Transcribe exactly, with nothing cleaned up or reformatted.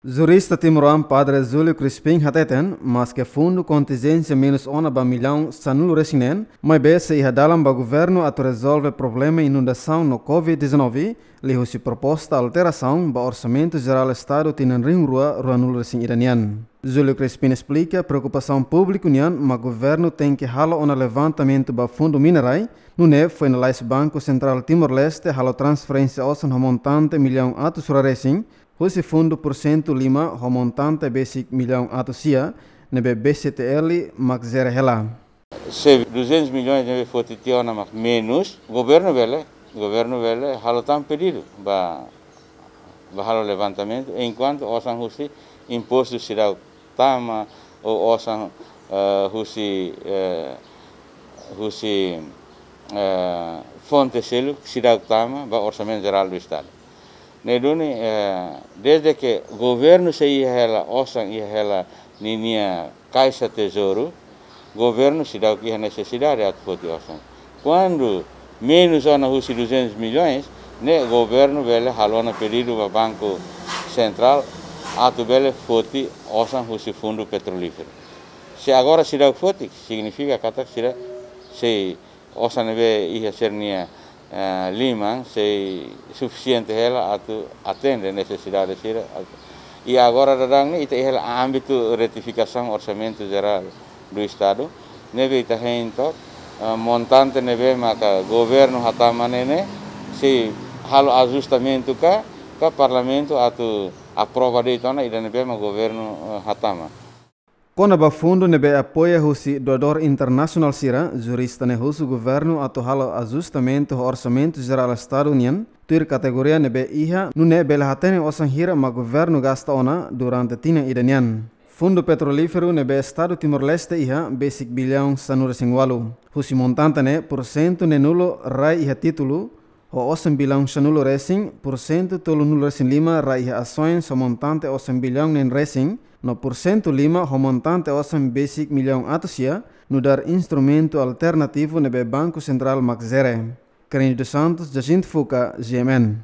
Jurista timoroan Padre Júlio Crispim hateten, maske fundu kontinjénsia menus ona ba millaun sanulu resin neen, maibé sei iha dalan ba governu atu rezolve problema inundasaun no covid dezanove, liuhusi proposta alterasaun ba Orsamentu Jerál Estadu tinan rihun rua ruanulu resin ida nian. Júlio Crispim esplika preokupasaun públiku nian mak governu tenke halo ona levantamentu ba fundu mina-rai, nune'e foin lalais Banku Sentrál Timor-Leste halo transferénsia osan ho montante millaun atus rua resin, husi fundu pursentu lima ho montante besik millaun atus sia, ne'ebé B C T L mak jere hela. Se duzentos milhões ne'ebé foti tiha ona mak menus, governu bele, governu bele halo tan pedidu ba, ba halo levantamentu, enkuantu osan husi impostu seidauk tama, ou osan, eh, husi, eh, husi, eh, fonte seluk seidauk tama ba Orsamentu Jerál do Estadu. Ne'e duni, eh, desde ke governu sei iha hela osan, iha hela ninia kaixa tezouru, governu seidauk iha nesesidade atu foti osan. Kuandu menus ona husi duzentos milhões, ne'e governu bele halo ona pedidu ba Banku Sentrál atu bele foti osan husi fundu petrolíferu. Se agora seidauk foti, signifika katak sira sei osan ne'ebé iha sira-nia, eh, liman sei sufisiente hela atu atende nesesidade sira. I agora daudaun ne'e ita iha hela ámbitu retifikasaun Orsamentu Jerál do Estadu, ne'ebé ita hein took, eh, montante ne'ebé maka governu hatama ne'e sei halo ajustamentu ka, ka Parlamentu atu aprova de'it ona ida ne'ebé mak governu, eh, hatama. Kona-ba fundu ne'ebé apoia husi doadór internasionál sira, jurista ne'e husu governu atu halo ajustamentu ho Orsamentu Jerál Estadu nian, tuir kategoria ne'ebé iha, nune'e bele hatene osan hira mak governu gasta ona durante tinan ida nian. Fundu petrolíferu ne'ebé Estadu Timor-Leste iha, besik billaun sanulu resin ualu. Husi montante ne'e, pursentu neenulu rai iha títulu, ho osan billaun sanulu resin, pursentu tolunulu resin lima rai iha asoens ho montante osan billaun neen resin, no pursentu lima ho montante osan besik millaun atus sia, nu'udar instrumentu alternativu ne'ebé Banku Sentrál mak jere. Cândido Santos, Jacinto Fuca, G M N.